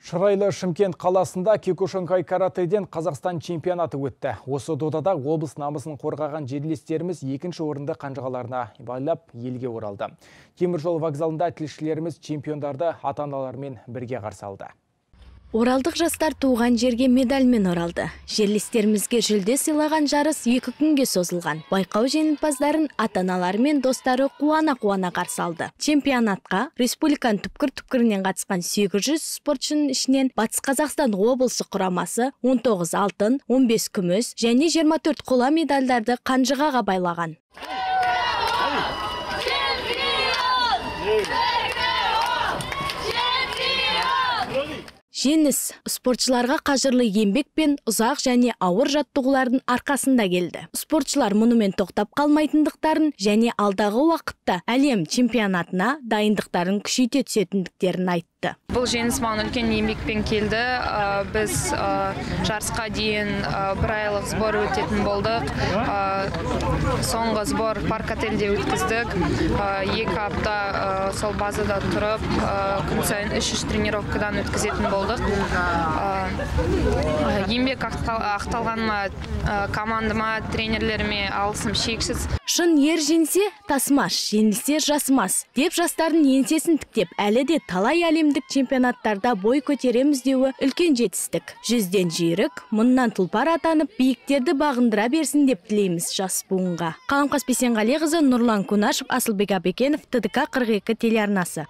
Шырайлы Шымкент қаласында Киокушинкай каратэден Қазақстан чемпионаты өтті. Осы додада облыс намысын қорғаған жерлестеріміз екінші орынды қанжығаларына байлап елге оралды. Теміржол вокзалында тілшілеріміз чемпиондарды ата-аналарымен бірге қарсы алды. Оралдық жастар туған жерге медальмен оралды. Жерлестерімізге жүлде сыйлаған жарыс 2 күнге созылған. Байқау жеңімпаздарын ата-аналары мен достары қуана-қуана қарсы алды. Чемпионатқа республиканың түпкір-түпкірінен қатысқан 800 спортшының ішінен Батыс Қазақстан облысы құрамасы 19 алтын, 15 күміс және 24 қола медальдарды қанжығаға байлаған. Жеңіс спортшыларға қажырлы еңбек пен ұзақ және ауыр жаттығулардың арқасында келді. Спортшылар мұнымен тоқтап қалмайтындықтарын және алдағы уақытта әлем чемпионатына дайындықтарын күшейте түсетіндіктерін айтты. Бұл жеңіс маған үлкен еңбекпен келді. Біз жарысқа дейін 1 айлық сбор өтетін болдық. Соңғы сбор парк отельде өткіздік. 2 апта сол базада тұрып, күн сайын 3 тренировкадан өткізетін болдық. Еңбек ақталғаныма командама, тренерлеріме алғысым шексіз. Шын ер жеңсе тасымас, жеңілсе жасымас деп жастардың еңсесін тіктеп, әлі де талай әлемдік чемпионаттарда бой көтереміз деуі үлкен жетістік. 100-ден жүйрік, мұннан тұлпар атанып, биіктерді бағындыра берсін деп тілейміз жас буынға. Қаламқас Бейсенғалиқызы, Нұрлан Кунашев, Асылбек Абекенов, ТДК 42 телеарнасы.